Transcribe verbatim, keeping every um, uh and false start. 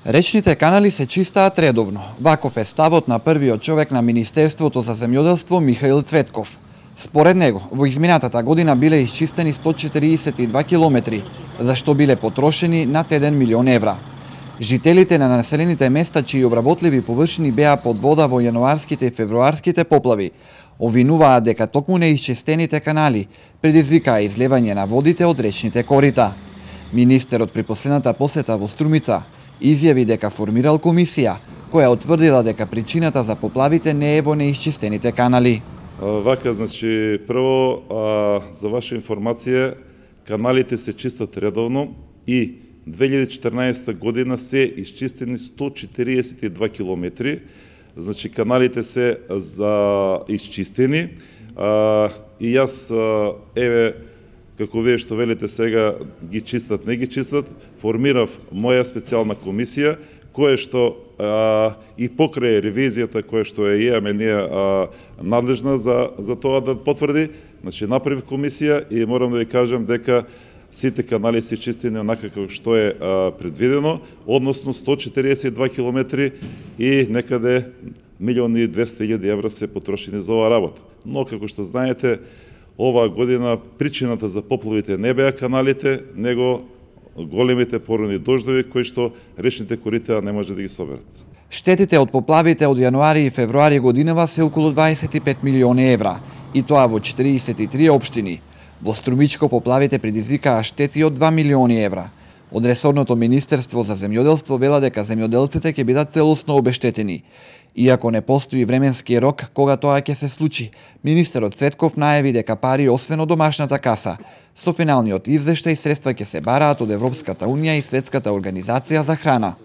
Речните канали се чистаат редовно. Ваков е ставот на првиот човек на Министерството за земјоделство Михаил Цветков. Според него, во изминатата година биле исчистени сто четириесет и два километри, за што биле потрошени над еден милион евра. Жителите на населените места чии обработливи површини беа под вода во јануарските и февруарските поплави, обвинуваат дека токму неисчистените канали предизвикаа излевање на водите од речните корита. Министерот при последната посета во Струмица изјави дека формирал комисија која утврдила дека причината за поплавите не е во неисчистените канали. Вака, значи, прво, а, за ваша информација, каналите се чистат редовно и две илјади и четрнаесетта година се исчистени сто четириесет и два километри. Значи, каналите се за исчистени. А, и јас, а, еве, како вие што велите сега, ги чистат, не ги чистат, формирав моја специјална комисија, која што а, и покрај ревизијата која што е имаме ние а, надлежна за, за тоа да потврди, значи направив комисија и морам да ви кажам дека сите канали се чистени онака како што е а, предвидено, односно сто четириесет и два километри и некаде милион и двесте илјади евра се потрошени за оваа работа. Но како што знаете, оваа година причината за поплавите не беа каналите, него големите породни дождови кои што речните корита не може да ги соберат. Штетите од поплавите од јануари и февруари годинава се околу дваесет и пет милиони евра, и тоа во четириесет и три општини. Во Струмичко поплавите предизвикаа штети од два милиони евра. Од ресорното Министерство за земјоделство вела дека земјоделците ќе бидат целосно обештетени. Иако не постои временски рок кога тоа ќе се случи, министерот Цветков најави дека пари освен од домашната каса, со финалниот извештај средства ќе се бараат од Европската унија и Светската организација за храна.